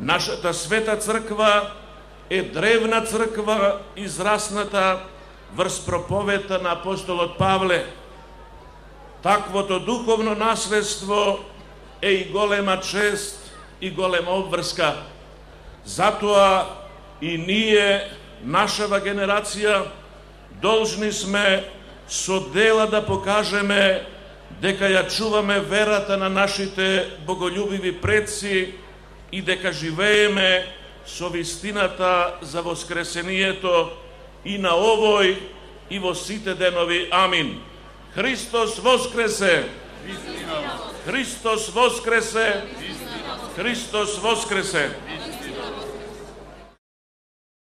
Нашата света црква е древна црква, израсната врз проповета на апостолот Павле. Таквото духовно наследство е и голема чест и голема обврска. Затоа и ние, нашава генерација, должни сме со дела да покажеме дека ја чуваме верата на нашите боголюбиви предци и дека живееме со вистината за воскресението и на овој и во сите денови. Амин. Христос воскресе! Христос воскресе! Христос воскресе!